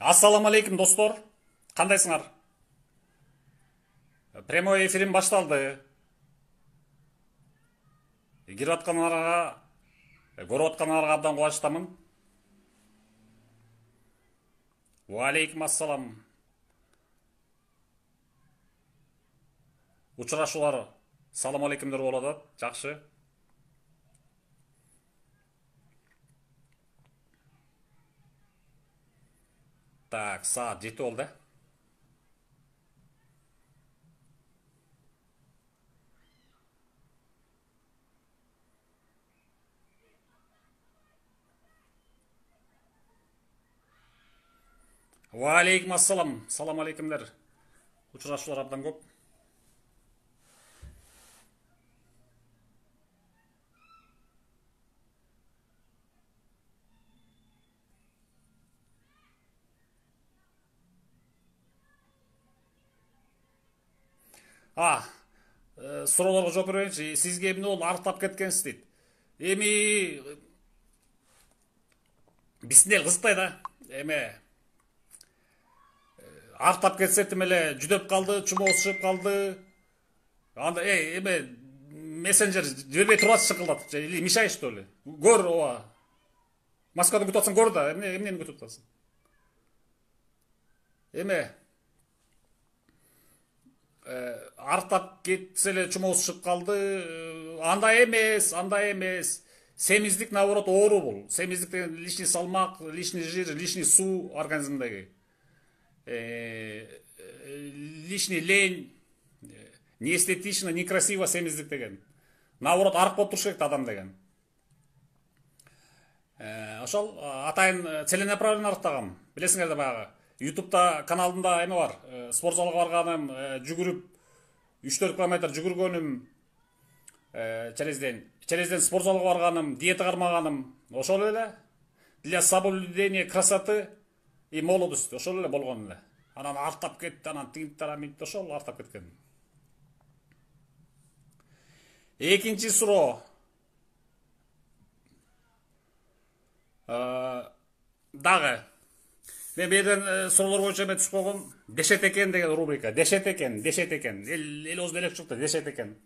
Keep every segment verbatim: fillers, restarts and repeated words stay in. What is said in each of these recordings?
Ассаламу алейкум достор. Кандайсыңар? Прямой эфирим башталды. Кирип аткандарга, көрүп аткандарга абдан кубанычтамын. Ва алейкум ассалам. Учурашуулар салам алейкумдер болуп атат. Жакшы. Так, саат жети болду. Ва алейкум ассалам. Салам алейкумдер. Учурашуулар абдан көп. А, суроолорго жооп берейинчи. Сизге эмне болду? Арыктап кеткенсиз дейт. Эми бисинел кызыктай да. Эме арыктап кетсе тим эле жүдөп калды, чумоосу чыгып калды. Анда эй, эме мессенджер жибербей турат шыкылдатып, или мешай что ли? Көр, ооба. Москвада күтүп атсаң көр да, эмне эмнени күтүп атасың? Эме арыктап кетсе эле чумоосу чыгып калды. Андай эмес, андай эмес. Семиздик наоборот оору бул. Семиздик деген лишний салмак, лишний жир, лишний суу организмдеги. Лишний лень, неэстетично, некрасиво семиздик деген. Наоборот арык болуп туруш керек адам деген. Ошол атайын целенаправленно арыктагам. Билесиңер да баягы ютубта каналымда эме бар. Спортзалга барганым, жүгүрүп үч төрт километр жүгүргөнүм, челезден, челезден спортзалга барганым, диета кармаганым, ошол эле для соблюдения красоты и молодости, ошол эле болгон эле. Анан арттап кетти, анан тигинтара минт ошол арттап кеткен. Экинчи суроо. Дагы мен берден суроолор боюнча эме түшүп койгом. Дешет экен деген рубрика. Дешет экен, дешет экен. Эл ооз элек чыкты, дешет экен.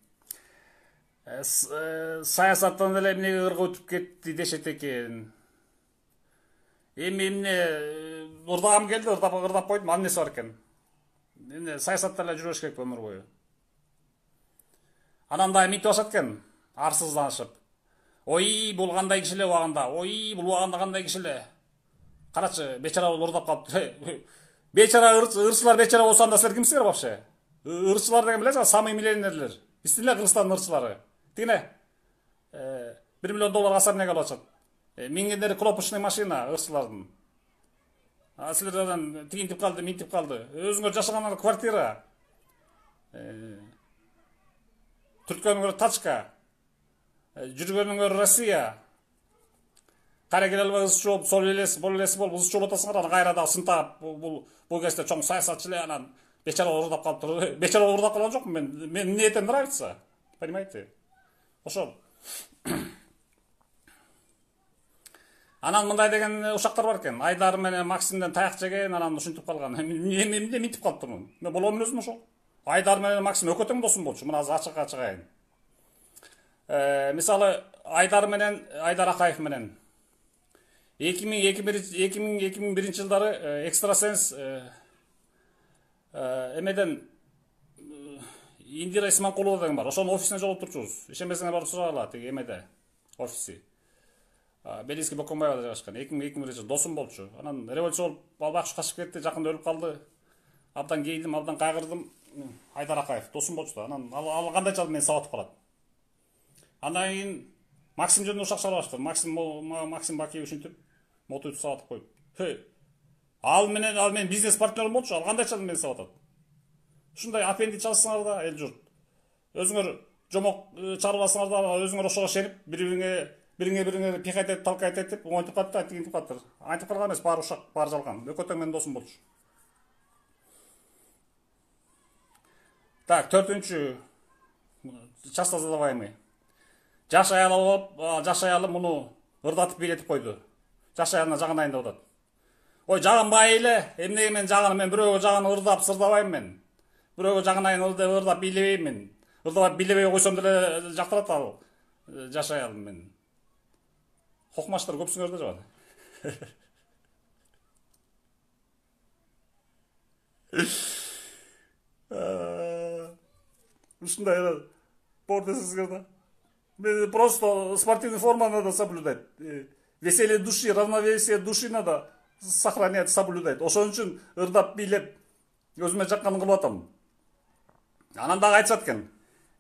Саясаттан эле эмнеге кыргы өтүп кетти, дешет экен. Эми эмне ырдагым келди, ырдап ырдап койдум, анын эмеси бар экен. Эмне саясатта эле жүрүш керек өмүр бою. Анан да минтип ашат экен, арсызданышып. Ой, бул кандай киши эле убагында. Ой, бул убагында кандай киши эле. Карачы, бечара болуп ырдап калыптыр. Бечара ырчылар бечара болсо анда силер кимсиңер вообще? Ырчылар деген билесиңер, самый миллионерлер. Биздин эле Кыргызстандын ырчылары. Тигине бир миллион доллар аса эмнеге алып атышат. Мингендери кнопочный машина ырчылардын. А силерден тигинтип калды, минтип калды. Өзүңөр жашаган квартира. Түрткөнүңөр тачка. Жүргөнүңөр Россия. Кара келе албай ызчы болуп, сол элес, бол элес болуп ызчы болуп атасыңар, анан кайра да сынтап, бул бул кезде чоң саясатчы эле анан бечара ырдап калыптыр. Бечара ырдап калган жокмун мен. Мен мне это нравится. Понимаете? Ошол. Анан мындай деген ушактар бар экен. Айдар менен Максимден таяк жеген, анан ушинтип калган. Мен эмне минтип калыптырмын? Мен боломун өзүм ошол. Айдар менен Максим өкө тең досум болчу. Мына азыр ачыкка чыгайын. Э, мисалы Айдар менен Айдар Акаев менен эки миң эки миң биринчи жылдары экстрасенс эмеден Индира Исманкулова деген бар. Ошонун офисине жолуп турчубуз. Ишенбесеңер барып сурагыла, тиги эмеде офиси. Белинский Бокомбаевда жайгашкан. эки миң биринчи жылы досум болчу. Анан революция болуп албакчы качып кетти, жакында өлүп калды. Абдан кейдим, абдан кайгырдым. Айдар Акаев досум болчу да. Анан ал кандайча мени сабатып калат. Андан кийин Максим жөнүндө ушак чыгарып Максим Максим Бакиев ушинтип мотуйтуп сабатып коюп. Хей. Ал менен ал менин бизнес партнерим болчу. Ал кандайча мени сабатат. Ушундай аппендич алсаңар да, эл журт. Өзүңөр жомок чыгарбасаңар да, өзүңөр ошого ишенип, бири-бириңе бириңе-бириңе пихать этип, талкайт этип, оңойтуп калды, тигинтип калыптыр. Айтып калган эмес, баары ушак, баары жалган. Өкө тең менин досум болчу. Так, төртүнчү. Часто задаваемый. Жаш аял болуп, жаш аялы муну ырдатып бийлетип койду. Жаш аялына жагынайын деп атат. Ой, жагын майыле, эмнеге мен жагын, мен бирөөгө жагын ырдап сырдабайм мен. Бирөөгө жагынайын ырдап бийлебейм мен. Ырдап бийлебей койсом деле жактырат ал. Жашай алам мен. Хокмаштар көпсүңөр да жагат. Ушундай бор десеңиздер да. Мен просто спортивный форма надо соблюдать. Веселье души, равновесие души надо сохранять, соблюдать. Ошон үчүн ырдап бийлеп өзүмө жакканын кылып атам. Анан дагы айтышат экен.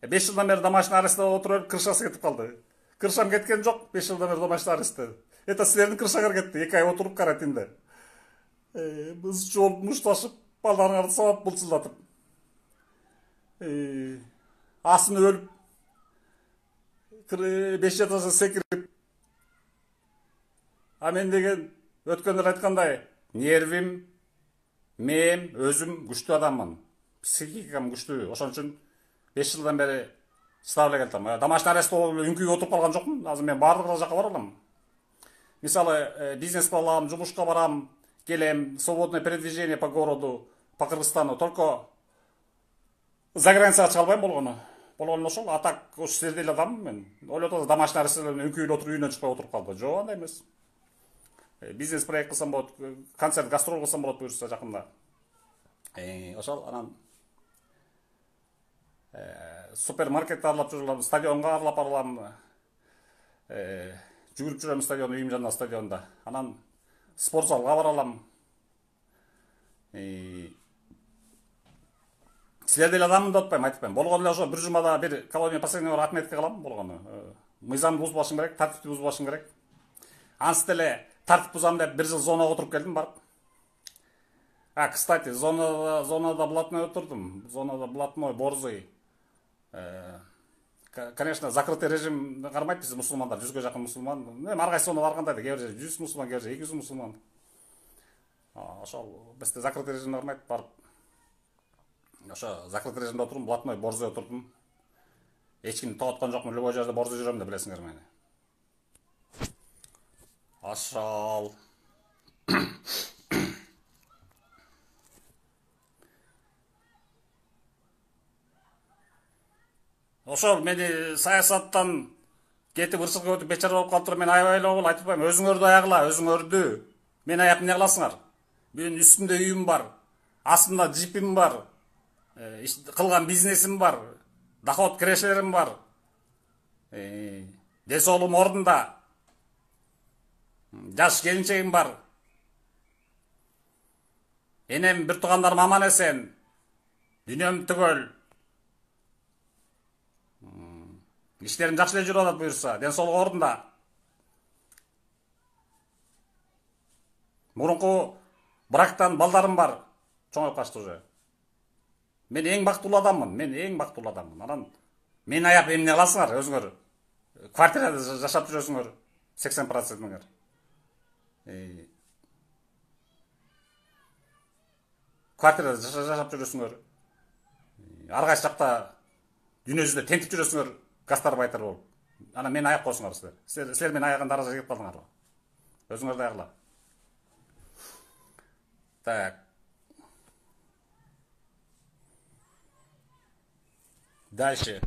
беш жылдан бери домашний арестте отуруп, крышасы кетип калды. Крышам кеткен жок, беш жылдан бери домашний арестте. Это силердин крышаңар кетти, эки ай отуруп карантинде. Біз жол мушташып, балдарыңарды сабап булчулдатып. Асын өлүп, беш этаждан секирип. А мен деген өткөндө айткандай, нервим, мен өзүм күчтүү адаммын. Психикам күчтүү. Ошон үчүн беш жылдан бери чыдап эле келатам. Домашний арест болуп үңкүйгө отуруп калган жокмун. Азыр мен баардык жакка бара алам. Мисалы, бизнес кылам, жумушка барам, келем, свободное передвижение по городу, по Кыргызстану. Только за границага чыга албайм болгону. Болгону ошол. А так ушу силердей эле адаммын мен. Ойлоп атасыз, домашний арест үңкүйдө отуруп үйүнөн чыкпай отуруп калды. Жок, андай эмес. Бизнес проект кылсам болот, концерт, гастроль кылсам болот буюрса жакында. Ошол анан супермаркетти аралап жүрөм, стадионго аралап барам. Жүгүрүп жүрөм стадион, үйүм жанында стадионда. Анан спорт залга бара алам. Силердей эле адаммын деп атпайм, айтпайм. Болгону эле ошо бир жумада бир колония последний бар отметка кылам болгону. Мыйзамды бузбашым керек, тартипти бузбашым керек. Ансы деле тартип бузам деп бир жыл зонага отуруп келдим барып. А, кстати, зонада, зонада блатной отурдум. Зонада блатной, борзый. Конечно, закрытый режим кармайт биз мусулмандар, жүзгө жакын мусулман. Эми ар кайсы зонада барганда да, кээ бир жүз мусулман, кээ бир эки жүз мусулман. Ошол бизде закрытый режим кармайт, барып. Ошо закрытый режимде отурдум, блатной, борзый отурдум. Эч кимди токтоткон жокмун, любой жерде борзый жүрөм деп билесиңер мени. Ошол. Ошол мени саясаттан кетип ырчылыкка өтүп бечара болуп калыптыр, мен аябай эле болуп айтып атпайм, өзүңөрдү аягыла, өзүңөрдү. Мен аяп эмне кыласыңар? Менин үстүмдө үйүм бар, астымда джипим бар, кылган бизнесим бар, доход кирешелерим бар. Ден соолугум ордунда. Жаш келинчегим бар. Энем, бир туугандарым аман эсен. Дүйнөм түгөл. Иштерим жакшы эле жүрүп атат буюрса, ден соолук ордунда. Мурунку брактан балдарым бар. Чоңоюп качты уже. Мен эң бактылуу адаммын, мен эң бактылуу адаммын. Анан мен аяп эмне кыласыңар өзүңөр? Квартирада жашап жүрөсүңөр, сексен процентиңер. Квартирада жашап жүрөсүңөр. Ар кайсы жакта дүйнө жүзүндө тентип жүрөсүңөр, гастарбайтер болуп. Анан мен аяп койсуңар силер. Силер, силер мен аяган даражага келип калдыңарбы? Өзүңөрдү аягыла. Так. Дальше.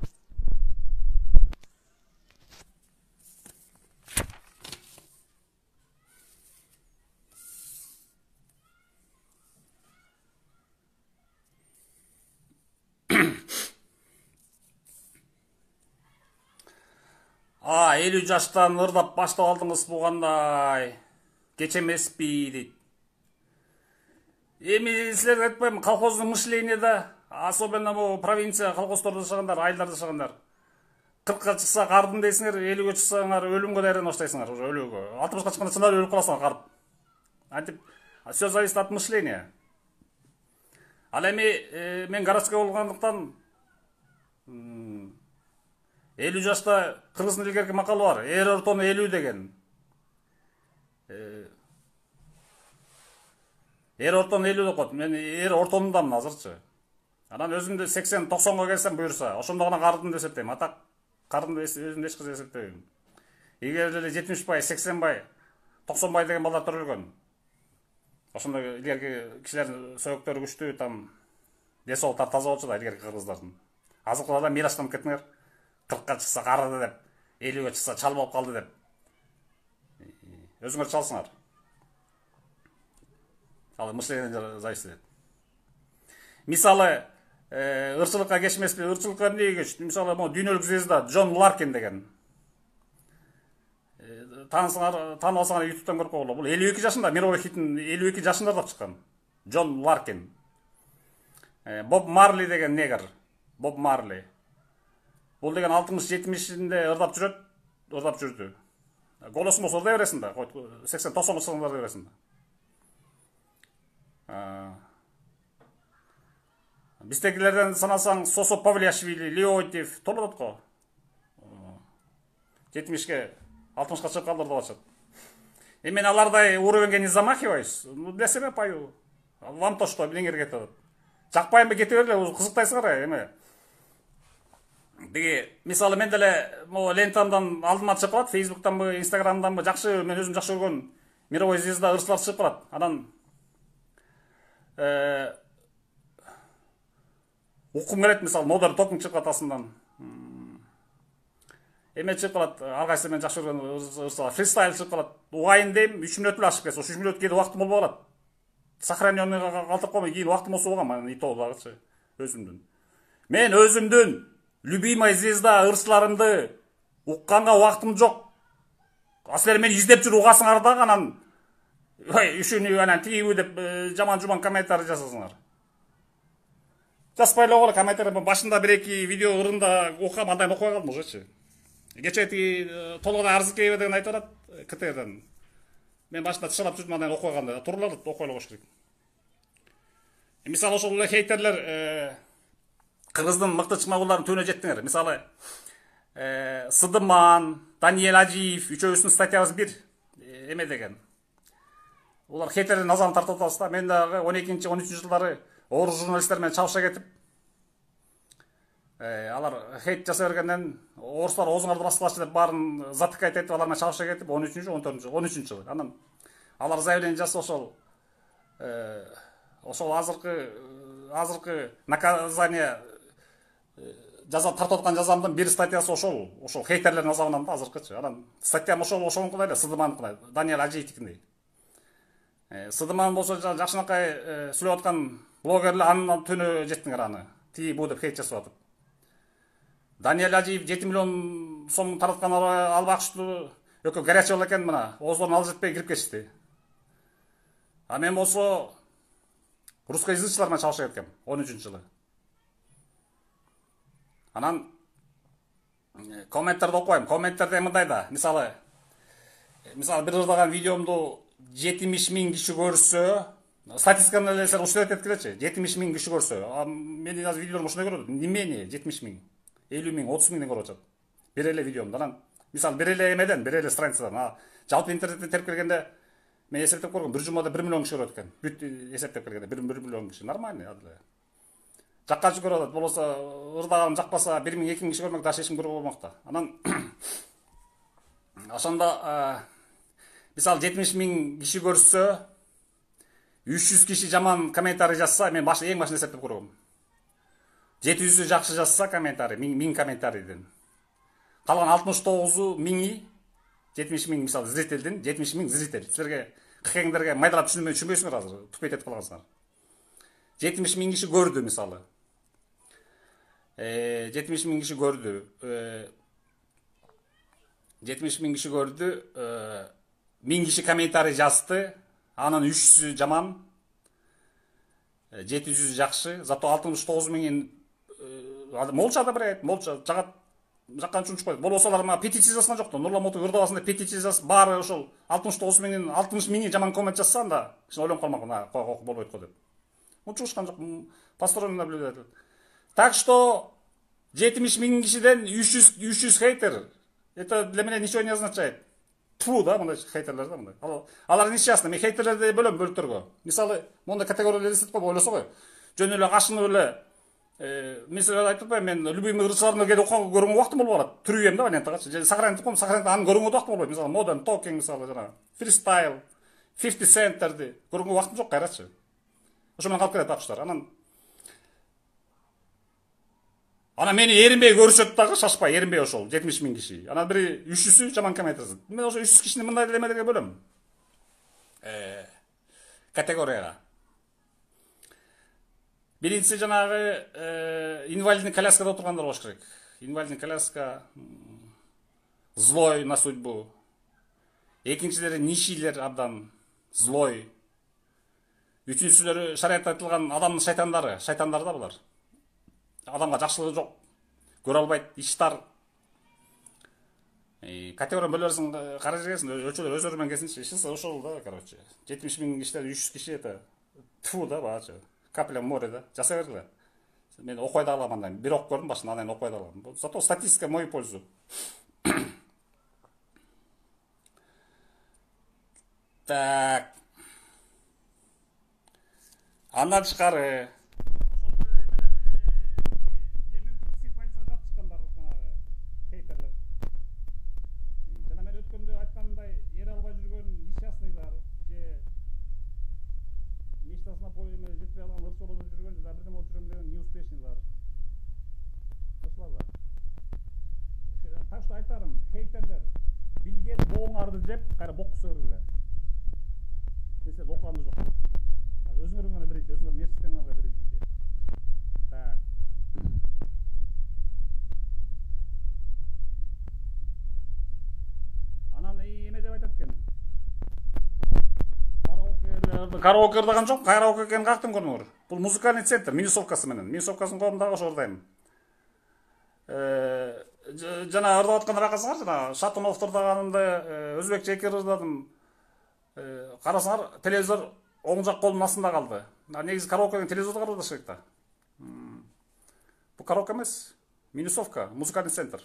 А, элүү жаштан ырдап баштап алдыңыз бугандай. Кеч эмеспи дейт. Эми силерге айтпайм, колхоздун мышлениеде, особенно бу провинция колхоздордо жашагандар, айылдарда жашагандар. кыркка чыкса кардым дейсиңер, элүүгө чыксаңар өлүмгө даярданып баштайсыңар, уже өлүүгө. алтымышка чыкканда чынар өлүп каласыңар карып. Антип, все зависит от мышления. Ал эми мен городской болгондуктан элүү жашта кыргыздын илгерки макалы бар. Эр ортону элүү деген. Эр ортону элүү деп коет. Мен эр ортонундамын азырчы. Анан өзүмдү сексен токсонго келсем буюрса, ошондо гана кардым деп эсептейм. Атак кардым деп өзүмдү эч кырсыз эсептебейм. Эгер эле жетимиш бай, сексен бай, токсон бай деген балдар төрөлгөн. Ошондой илгерки кишилердин сөйөктөрү күчтүү, там десолтар таза болчу да илгерки кыргыздардын. Азыркыларда мираштанып кеттиңер. кыркка чыкса карыды деп, элүүгө чыкса чал болуп калды деп. Өзүңөр чалсыңар. Ал мышление зависит. Мисалы, ырчылыкка кечмеспи, ырчылыкка эмнеге кечти? Мисалы, могу дүйнөлүк звезда Джон Ларкин деген. Таанысаңар, таанып алсаңар ютубтан көрүп койгула. Бул элүү эки жашында мировой хитин элүү эки жашында ырдап чыккан. Джон Ларкин. Боб Марли деген негр. Боб Марли. Бул деген алтымыш жетимишинде ырдап жүрөт, ырдап жүрдү. Голосуң болсо ырдай бересиң да, сексен токсон жылдарда ырдай бересиң да. Биздегилерден санасаң Сосо Павлиашвили, Леонтьев толот го. жетимишке, алтымышка чыгып калды ырдап атышат. Эми алардай уровеньге не замахиваюсь. Ну для себя пою. Вам то что, эмнеңерге кетип атат. Жакпайбы кете берле, кызыктайсыңар эми. Биги мисалы мен деле могу лентамдан алдыма чыгып калат, Facebook'танбы, Instagram'данбы жакшы, мен өзүм жакшы көргөн мировой звезда ырчылар чыгып калат. Анан э укум келет, мисалы Modern Talking чыгып калат астынан. Эме чыгып калат, ар кайсы мен жакшы көргөн ырчылар, фристайл чыгып калат. Угайын дейм, үч мүнөт эле ашып кетсе, үч мүнөт кийин убактым болбой калат. Сохраненныйга калтырып коймой, кийин убактым болсо болгон, мен итоо дагычы өзүмдүн. Мен өзүмдүн любимый звезда ырчыларымды укканга убактым жок. Асылер мени издеп жүрүп угасыңар дагы, анан ой, үшүнү анан тигиби деп жаман-жуман комментарий жасасыңар. Жазбай эле койгула комментарий. Башында бир эки видео ырында окугам, андан окубай калдым ужечи. Кечээ тиги Толгода Арзыкеева деген айтып атат, КТРден. Мен башында тышалап жүрдүм, андан окубай калдым. Тууралар окуй эле коюш керек. Мисалы ошол эле хейтерлер кыргыздын мыкты чыкмагуларын түбүнө жеттиңер. Мисалы, Сыдыман, Даниэль Ажиев үчөөбүздүн статьябыз бир эме деген. Улар хейтердин назарын тартып атабыз да. Мен дагы он экинчи он үчүнчү жылдары орус журналисттер менен чабыша кетип, алар хейт жасай бергенден орустар оозуңарды баскылачы деп баарын затыкайт этип, алар менен чабыша кетип он үчүнчү он төртүнчү он үчүнчү жылы. Анан алар заявление жасап ошол ошол азыркы азыркы наказание жаза тартып аткан жазамдын бир статьясы ошол, ошол хейтерлердин азабынан да азыркычы. Анан статьям ошол ошонукундай эле, Сыдымандыкындай, Даниэль Ажиевдикиндей. Сыдыман болсо жакшынакай сүйлөп аткан блогерлер анын түнү жеттиңер аны. Тиги бу деп хейт жасап атып. Даниэль Ажиев жети миллион сом тараткан албакчылуу өкө горячий болот экен, мына ооздорун алып жетпей кирип кетишти. А мен болсо русскоязычылар менен чабыша кеткем он үчүнчү жылы. Анан комменттерди окуйм. Комменттерде мындай да, мисалы, мисалы бир ырдаган видеомду жетимиш миң киши көрсө, статистиканы эле ушундай эткилечи, жетимиш миң киши көрсө, менин азыр видеолорум ушундай көрөт. Немени жетимиш миң, элүү миң, отуз миңден көрүп атат. Бир эле видеомду. Анан мисалы бир эле эмеден, бир эле страницадан, жалпы интернеттен терип келгенде мен эсептеп көргөм, бир жумада бир миллион киши көрөт экен. Бүт эсептеп келгенде бир миллион киши нормальный адиле. Жаккачы көрүп атат, болбосо ырдаганым жакпаса бир миң эки миң киши көрмөк, дагы эч ким көрбөй болмок да. Анан ошондо мисалы жетимиш миң киши көрсө, үч жүз киши жаман комментарий жазса, мен баш эң башында эсептеп көргөм. жети жүзү жакшы жазса комментарий, миң комментарийден. Калган алтымыш тогузу миңи, жетимиш миң мисалы зрительдин, жетимиш миң зритель. Силерге кыкеңдерге майдалап түшүнбөй түшүнбөйсүңөр азыр, тупейт этип калгансыңар. жетимиш миң киши көрдү мисалы. Э, жетимиш миң киши көрдү. жетимиш миң киши көрдү. миң киши комментарий жазды. Анын үч жүзү жаман. жети жүзү жакшы. Зато алтымыш тогуз миңин молча да бирет, молча жагат жаккан чунчуп коет. Болбосо алар мага петиция жазган жок да. Нурлан Моту ырдабасын деп петиция жазып, баары ошол алтымыш тогуз миңин алтымыш миңи жаман коммент жазса, анда кичине ойлонуп калмак, мына болбойт го деп. Ну чугушкан жок, посторонний наблюдатель. Так что жетимиш миң кишиден үч жүз хейтер. Это для меня ничего не означает. Тфу, да, мындай хейтерлер да мындай. Алар нечестно, мен хейтерлерди бөлөм бөлүктөргө. Мисалы, мондай категориялар эсептеп коюп ойлосо го. Жөн эле кашынып эле мен силерге айтып атпайм, мен любимый ырчыларымды келип көргөнгө убактым болбой калат. Түрүйем да лентагачы. Сохранить коем, сохранить анын көргөнгө убактым болбойт. Мисалы, Modern Talking, мисалы, жана Freestyle, фифти центтерди көргөнгө убактым жок кайрачы. Ошо менен калып кетет акчалар. Анан Анан мени эринбей көрүшөт дагы, шашпай эринбей ошол жетимиш миң киши. Анан бир үч жүзү жаман коммент жазат. Мен ошо үч жүз кишини мындай элемелерге бөлөм. Э, категорияга. Биринчиси жанагы инвалидный коляскада отургандар болуш керек. Инвалидный коляска, злой на судьбу. Экинчилери нищийлер абдан злой. Үчүнчүсүлөрү шариатта айтылган адамдын шайтандары, шайтандар да булар. Адамга жакшылыгы жок, көрө албайт, иштар. Категория бөлөрсүң, карай жегесиң, өлчөлөр өздөрү менен келсинчи. Ишинсе ошол да, короче. жетимиш миң кишиден үч жүз киши это тфу да, баачы. Капля в море да. Жасай бергиле. Мен окуй да алам андан. Бир окуп көрдүм башында, анан окуй да алам. Зато статистика в мою пользу. Так. Андан тышкары так что айтарым, хейтерлер билген боңарды жеп, кайра боккуса бергиле. Эсе окуганды жок. Өзүңөр гана берейт, өзүңөр нерсеңер гана берейт. Так. Анан эме деп айтат экен. Караоке, караоке ырдаган жок, караоке экенин кактым көрүңөр. Бул музыкальный центр, минусовкасы менен. Минусовкасын коом дагы ошо ырдайм. Э, жана ырдап аткандар акасыңар, жана Шатуновду ырдаганымда өзбекче эки ырдадым. Э, карасаңар, телевизор оң жак колдун астында калды. Негизи караокеден телевизордо карадыш керек да. Бул караоке эмес, минусовка, музыкальный центр.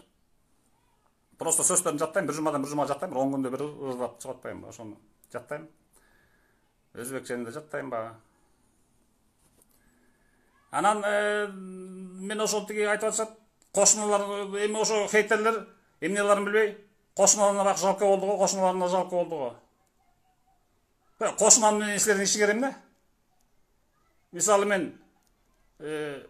Просто сөздөрүн жаттайм, бир жумадан бир жумага жаттайм, он күндө бир ырдап чыгып атпайм, ошону жаттайм. Өзбекчени да жаттайм ба. Анан мен ошол тиги айтып атышат, кошуналар эми ошо хейтерлер эмнелерин билбей, кошуналарына жалко болду го, кошуналарына жалко болду го. Кошунам менен силердин ишиңер эмне? Мисалы мен э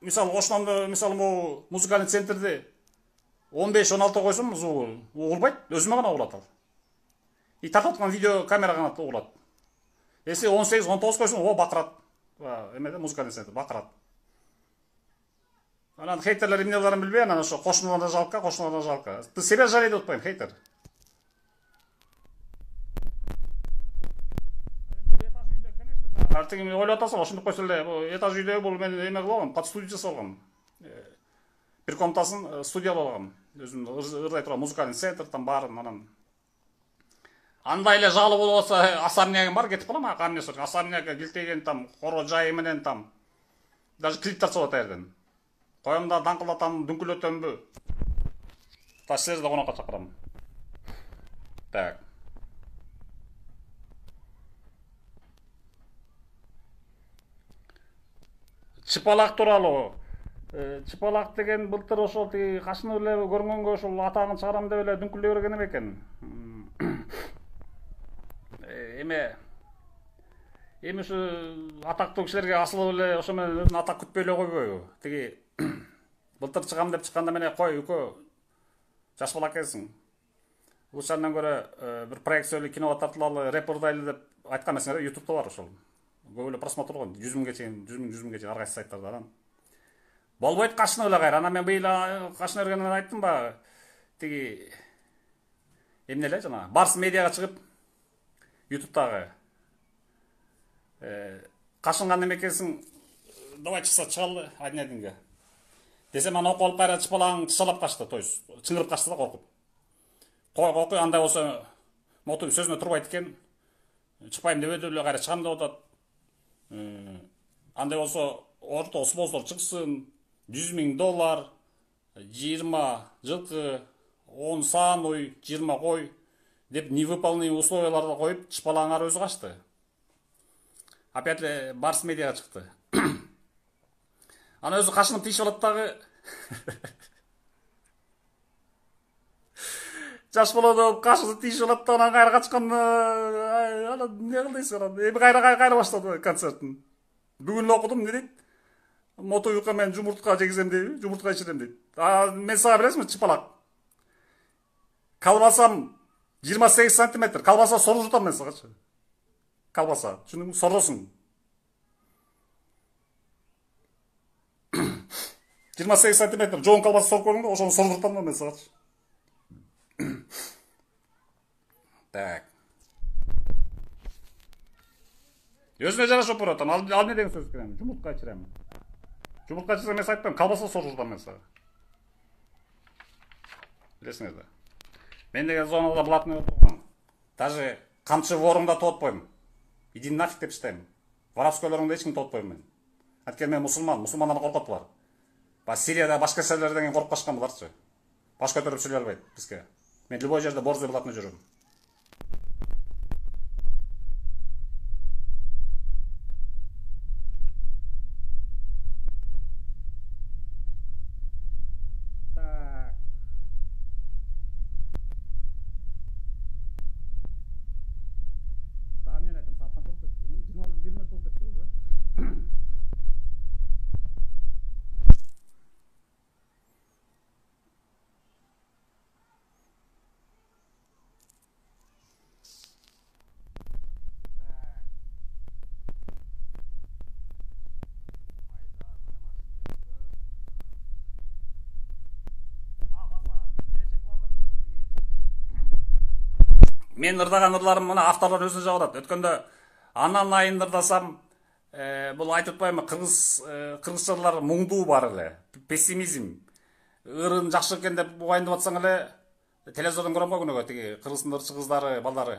мисалы кошунамды, мисалы могу музыкальный центрди он беш он алты койсом, угулбайт, өзүмө гана угулат ал. И тартып аткан видео камера гана угулат. Если он сегиз он тогуз койсом, о бакырат. Эмеде музыкальный центр бакырат. Анан хейтерлер эмнелерин билбей, анан ошо кошуналарына жалко, кошуналарына жалко. Ты себя жалей деп атпайм, хейтер. Артыгы ойлоп атасың, ошондой койсо эле, этаж үйдө бул мен эме кылгам, под студия жасалгам. Бир комнатасын студия болгам. Өзүм ырдай турган музыкальный центр там барын, анан андай эле жалы болуп атса, особнягым бар, кетип калам, камнесор. Особняга килтеген там, коро жайы менен там. Даже клип тартып атат жерден. Коем да даңкылдатам, дүңкүлөтөмбү. Та силерди конокко чакырам. Так. Чыпалак тууралуу. Чыпалак деген былтыр ошол тиги кашынып эле көргөнгө ошол атагын чыгарам деп эле дүңкүлөй берген экен. Эме эми ушу атактуу кишилерге асылып эле ошо менен өзүн атак күтпөй эле койбойбу? Тиги былтыр чыгам деп чыкканда менен кой үкө жаш бала экенсиң. Ушандан көрө бир проекциялуу киного тартылалы, рэп ырдайлы деп айткан эмесиңер, ютубта бар ошол. Көп эле просмотр болгон, жүз миңге чейин, жүз миң, жүз миңге чейин ар кайсы сайттарда. Анан болбойт кашынып эле кайра. Анан мен быйыл кашынып бергенден айттым ба, тиги эмне эле жана Барс медиага чыгып ютубтагы э кашынган эмекенсиң, давай чыкса чыгалы один одинге. Десем аны окуп алып кайра чыпалагың тышалап качты, то есть чыңырып качты да коркуп. Кой кой андай болсо, моту сөзүнө турбайт экен. Чыкпайм деп эле кайра чыгам деп атат. Андай болсо, орто спонсор чыксын, жүз миң доллар, жыйырма жылкы, он сануй, жыйырма кой деп невыполнимый условияларды коюп, чыпалаңар өзү качты. Опять эле Барс медиага чыкты. Ана өзү кашынып тийишип алат дагы. жаш бала да кашыны тийишип алат да, анан кайра качкан, анан эмне кылдыйсың анан? Эми кайра кайра баштады концертин. Бүгүн эле окудум, эмне дейт? Мотоюкка мен жумуртка жегизем дейби, жумуртка ичирем дейт. А мен сага билесизби, чыпалак? Калбасам жыйырма сегиз сантиметр, калбаса сору жутам мен сагачы. Калбаса, түшүндүңбү? Соросуң. жыйырма сегиз сантиметр жоон калбаса соруп көрдүң го, ошону сору жутам да мен сагачы. Так. Өзүнө жарашып берип атам. Ал ал не деген сөз экен? Жумуртка ичирем. Жумуртка ичирсем мен айтпайм, калбаса сору жутам мен сага. Билесиңер да. Мен деген зонада блатный отурган. Даже камчы ворумда тоотпойм. Иди нафиг деп иштейм. Воровскойлорунда эч ким тоотпойм мен. Анткени мен мусулман, мусулмандардан коркот булар. Ба Сирияда башка серлерден коркуп качкан буларчы. Баш көтөрүп сүйлөй албайт бизге. Мен любой жерде борзый блатный жүрөм. Так. Да, мен айтам, сааттан толуп кетти. жыйырма бир минут толуп кетти уже. Мен ырдаган ырларым мына авторлор өзүнө жагып атат. Өткөндө анан айын ырдасам, бул айтып атпаймынбы, кыргыз кыргызчалар муңдуу бар эле, пессимизм. Ырын жакшы экен деп убайындап атсаң эле, телевизордон көрөм го күнөгө тиги кыргыздын ырчы кыздары, балдары.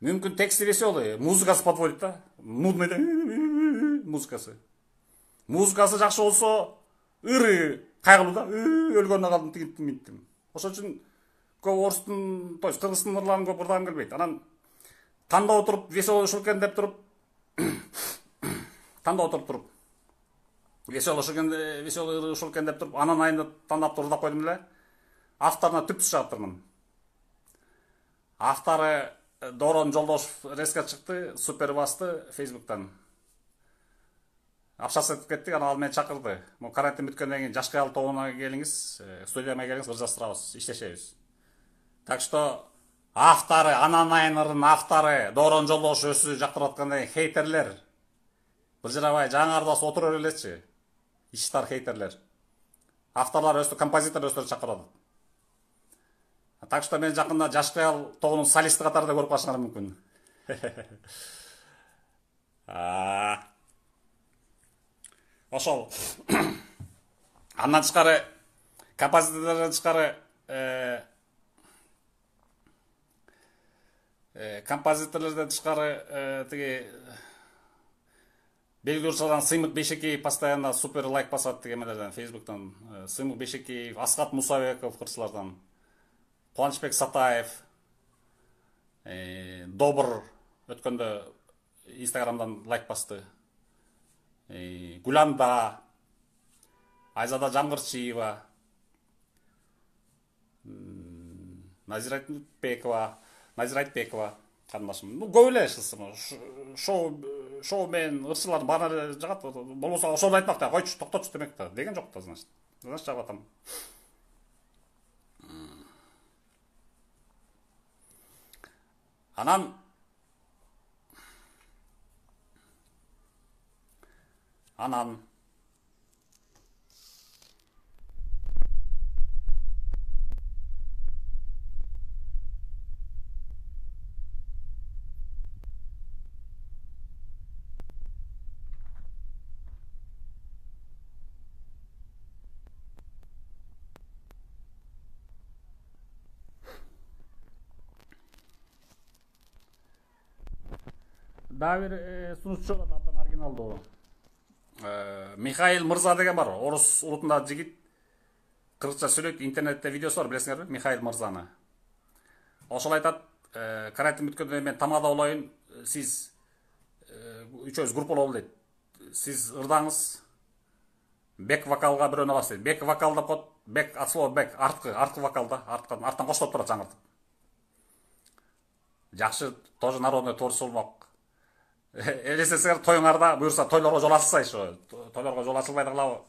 Мүмкүн тексти веселый, музыкасы подводит да. Нудный музыкасы. Музыкасы жакшы болсо, ыры кайгылуу да, өлгөнүнө калдым тигинтим минтим. Ошон үчүн көп орустун, то есть кыргыздын ырларын көп ырдагым келбейт. Анан тандап отуруп веселошуу экен деп туруп, тандап отуруп туруп, веселошуу экен, веселый ыры ушул экен деп туруп, анан айында тандап ырдап койдум эле. Авторуна түпсүз жаптырмын. Автору Дорон Жолдошев резко чыкты, супер басты Facebook'тан. Акчасы этип кеттик, анан ал мени чакырды. Му карантин бүткөндөн кийин жаш кыял тобуна келиңиз, студияма келиңиз, ыржастырабыз, иштешебиз. Так что автору, анан айын ырдын автору Дорон Жолдошев өзү жактырып аткандан кийин хейтерлер быжырабай жаңарды басып отура берелечи. Иштар хейтерлер. Авторлор өстү, композитор өстү чакырат. Так что мен жакында жаш кыял тобунун солисти катарында көрүп калышыңар мүмкүн. Ошол. Андан тышкары композитордон тышкары композиторлордон тышкары тиги белгилүү ырчыдан Сыймык Бейшекеев постоянно супер лайк басат дегенлерден Facebook'тан. Сыймык Бейшекеев, Аскат Мусабеков кырчылардан, Кубанычбек Сатаев, Добр өткөндө Instagram'дан лайк басты. Гуланда, Айзада Жамгырчиева, Назира Айтбекова, Назира Айтбекова кандашым. Ну, көп эле шоу шоу мен ырчылар баары жагат. Болбосо ошону айтмак да, койчу, токтотчу демек да. Деген жок да, значит. Значит, жагып атам. Анан Анан дагы бир сунуучу бар, абдан оригиналдуу. Михаил Мырза деген бар, орус улутундагы жигит. Кыргызча сүйлөйт, интернетте видеосу бар, билесиңерби, Михаил Мырзаны. Ошол айтат, карантин бүткөндөн мен тамада болоюн, сиз үчөөбүз группалуу дейт. Сиз ырдаңыз, бек вокалга бирөөнү аласыз дейт. Бек вокал деп коет, бек от слова бек, арткы, арткы вокал да, арткан, арттан коштоп турат жаңыртып. Жакшы, тоже народный творчество болмок. Элестетсеңер, тоюңарда буюрса тойлорго жол ачылсайчы, тойлорго жол ачылбай калабы.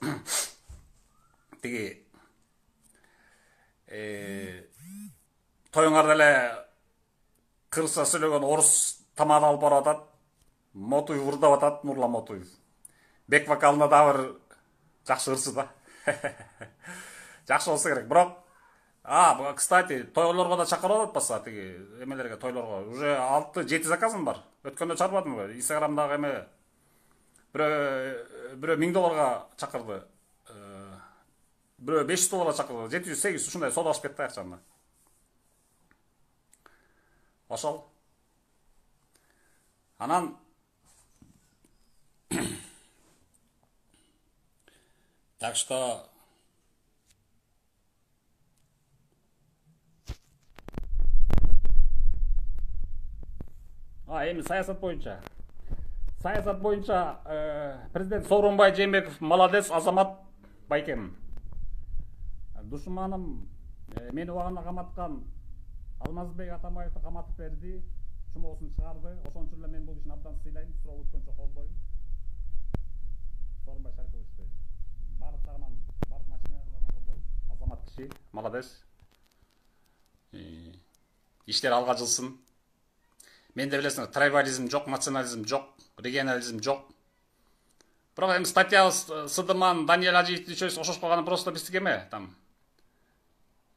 Тиги э тоюңарда эле кыргызча сүйлөгөн орус тамагын алып барып атат. Мотуев урдап атат, Нурлан Мотуев. Бек вокалына да бир жакшы ырчы да. Жакшы болсо керек. Бирок, а, кстати, тойлорго да чакырып атпаса, тиги эмелерге, тойлорго. Уже алты жети заказым бар. Өткөндө чарбадымбы? Инстаграмдагы эме бирөө бирөө миң долларга чакырды. Бирөө беш жүз долларга чакырды. жети жүз сегиз жүз ушундай соодалашып кетти акчаны. Ошол. Анан так что А, эми саясат боюнча. Саясат боюнча президент Сооронбай Жээнбеков молодец, Азамат байкем. Душманым мени убагында каматкан Алмазбек Атамбаевди каматып берди, чумоосун чыгарды. Ошон үчүн эле мен бул ишин абдан сыйлайм, суроо өткөнчө колдойм. Сооронбай Шариповичти баардык жагынан, баардык начиналардан колдойм. Азамат киши, молодец. Иштер алга жылсын. Менде билесиңер, трайбализм жок, национализм жок, регионализм жок. Бирок эми статья Сыдыман, Даниэль Ажиевди ишөөбүз ошошуп калганы просто биздики эме, там.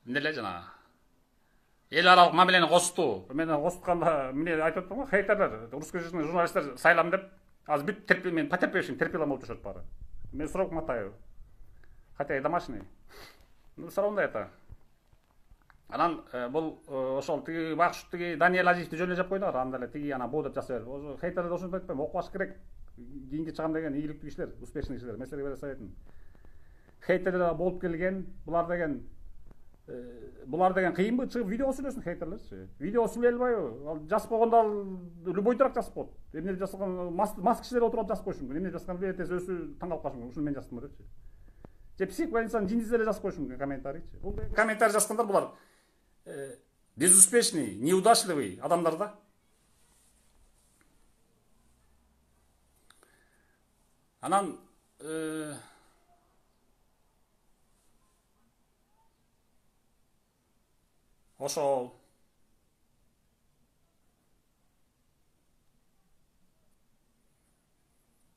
Эмне жана эл аралык мамилени косту. Мен костканда эмне айтып атпам го, хейтерлер, русскоязычный журналисттер сайлам деп, азыр бүт терпи, мен потерпевшим, терпилам болуп жашат баары. Мен срок мотаю. Хотя и домашний. Ну, все равно это. Анан бул ошол тиги бакш тиги Даниэль Ажиевди жөн эле жап койдуңар, анда эле тиги ана бу деп жаза берип. Ошо хейтерлер ошентип айтпайм, окуп алыш керек. Кийинки чыгам деген ийгиликтүү кишилер, успешный кишилер. Мен силерге бере советим. Хейтерлер болуп келген, булар деген булар деген кыйынбы, чыгып видео сүйлөсүн хейтерлерчи. Видео сүйлөй албайбы? Ал жазып койгондо ал любой дурак жазып коет. Эмне жазган мас кишилер отуруп жазып койушу мүмкүн. Эмне жазган эртеси өзү таң калып калышы мүмкүн. Ушуну мен жаздым депчи. Же псих больницанын жиндизи эле жазып коюшу мүмкүн комментарийчи. Бул комментарий жазгандар булар безуспешный, неудачливый адамдар да. Анан ошол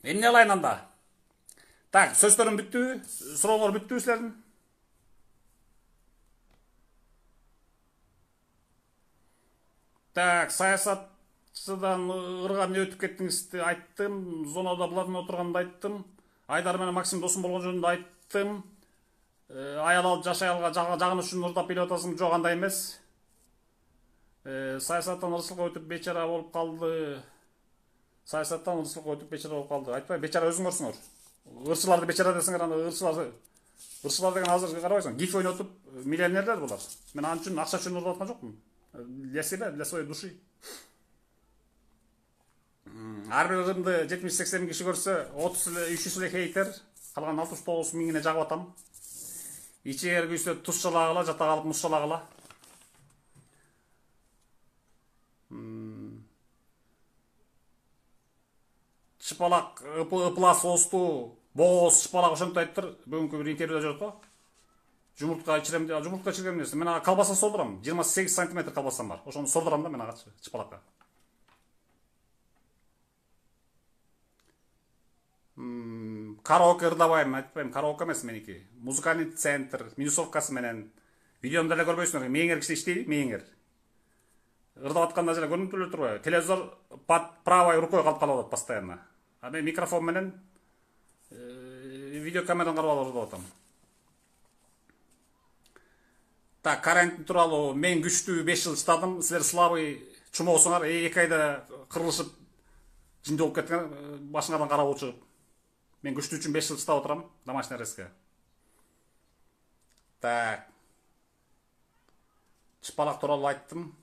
эмне кылайын анда? Так, сөздөрүм бүттүбү? Сурооңор бүттүбү силердин? Так, саясатчыдан ыргап не өтүп кеттиңизди айттым, зонада булардын отурганын айттым, Айдар менен Максим досум болгон жөнүндө айттым. Аял алып жашай алга жагыныш үчүн ырдап келип атасың, жок андай эмес. Саясаттан ырчылыкка өтүп бечара болуп калды. Саясаттан ырчылыкка өтүп бечара болуп калды. Айтпай, бечара өзүңөрсүңөр. Ырчыларды бечара десеңер, анда ырчылар ырчылар деген азыр карабайсың, гиф ойнотуп миллионерлер булар. Мен ал үчүн акча үчүн ырдап аткан жокмун. Для себя, для своей души. Ар бир ырымды жетимиш сексен киши көрсө, отуз эле үч жүз эле хейтер, калган алтымыш тогуз миңине жагып атам. Ичегер күйсө туз чалагыла, жата калып муз чалагыла. Чыпалак, ыпыла соосту, боз чыпалак ошентип айтыптыр. Бүгүнкү бир интервьюда жүрөт го. Жумуртка ичирем деп, жумуртка ичирген эмнеси? Мен ага колбаса солдурам. жыйырма сегиз сантиметр колбасам бар. Ошону солдурам да мен ага чыпалакка. Караоке ырдабайм, айтпайм, караоке эмес меники. Музыкальный центр, минусовкасы менен. Видеомду эле көрбөйсүңөр, мээңер киши иштейби, мээңер. Ырдап атканда эле көрүнүп эле турбайбы? Телевизор под правой рукой калып калып атат постоянно. А мен микрофон менен видеокамерадан карап алып ырдап атам. Так, карантин тууралуу мен күчтүү беш жыл чыдадым, силер слабый чумоосуңар, эки айда кырылышып жинди болуп кеткен, башыңардан кара болуп чыгып. Мен күчтүү үчүн беш жыл чыдап отурам, домашний арестке. Так. Чыпалак тууралуу айттым.